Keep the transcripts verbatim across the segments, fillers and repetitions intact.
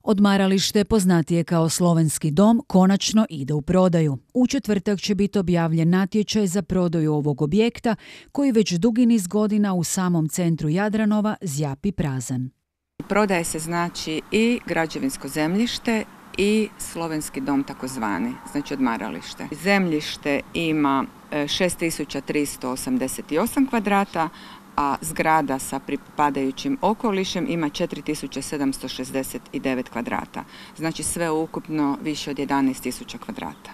Odmaralište, poznatije kao Slovenski dom, konačno ide u prodaju. U četvrtak će biti objavljen natječaj za prodaju ovog objekta, koji već dugi niz godina u samom centru Jadranova zjapi prazan. Prodaje se znači i građevinsko zemljište i Slovenski dom takozvani, znači odmaralište. Zemljište ima šest tisuća tristo osamdeset osam kvadrata, a zgrada sa pripadajućim okolišem ima četiri tisuće sedamsto šezdeset devet kvadrata. Znači sve ukupno više od jedanaest tisuća kvadrata.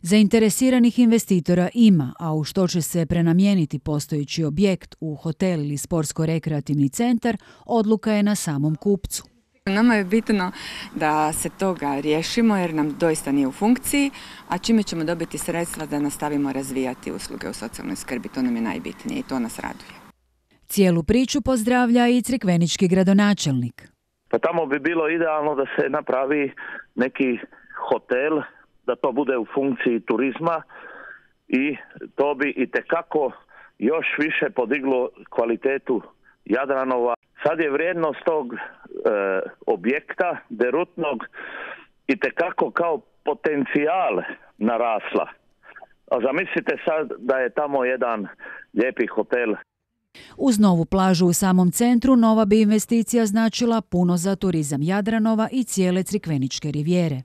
Zainteresiranih investitora ima, a u što će se prenamijeniti postojeći objekt u hotel ili sportsko-rekreativni centar, odluka je na samom kupcu. Nama je bitno da se toga riješimo jer nam doista nije u funkciji, a čime ćemo dobiti sredstva da nastavimo razvijati usluge u socijalnoj skrbi, to nam je najbitnije i to nas raduje. Cijelu priču pozdravlja i crikvenički gradonačelnik. Pa tamo bi bilo idealno da se napravi neki hotel, da to bude u funkciji turizma i to bi itekako još više podiglo kvalitetu Jadranova. Sad je vrijednost tog e, objekta derutnog itekako kao potencijal narasla. A zamislite sad da je tamo jedan lijepi hotel. Uz novu plažu u samom centru, nova bi investicija značila puno za turizam Jadranova i cijele Crikveničke rivijere.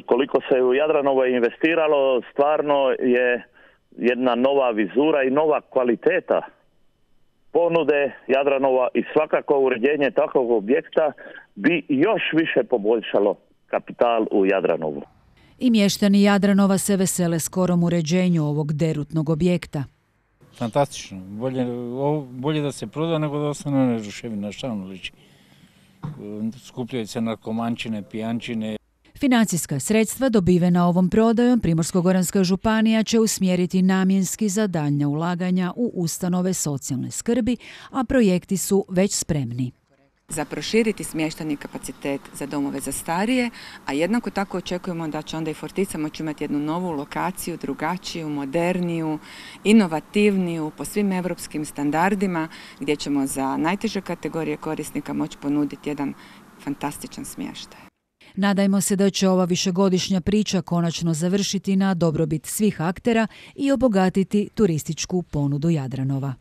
Koliko se u Jadranovo investiralo, stvarno je jedna nova vizura i nova kvaliteta ponude Jadranova i svakako uređenje takvog objekta bi još više poboljšalo kapital u Jadranovu. I mještani Jadranova se vesele skorom uređenju ovog derutnog objekta. Fantastično. Bolje, bolje da se proda nego da ostane neruševina, šta ono liči. Skupljaju se narkomančine, pijančine. Financijska sredstva dobivena ovom prodajom Primorsko-goranska županija će usmjeriti namjenski za daljnja ulaganja u ustanove socijalne skrbi, a projekti su već spremni. Za proširiti smještajni kapacitet za domove za starije, a jednako tako očekujemo da će onda i Fortica moći imati jednu novu lokaciju, drugačiju, moderniju, inovativniju, po svim europskim standardima, gdje ćemo za najteže kategorije korisnika moći ponuditi jedan fantastičan smještaj. Nadajmo se da će ova višegodišnja priča konačno završiti na dobrobit svih aktera i obogatiti turističku ponudu Jadranova.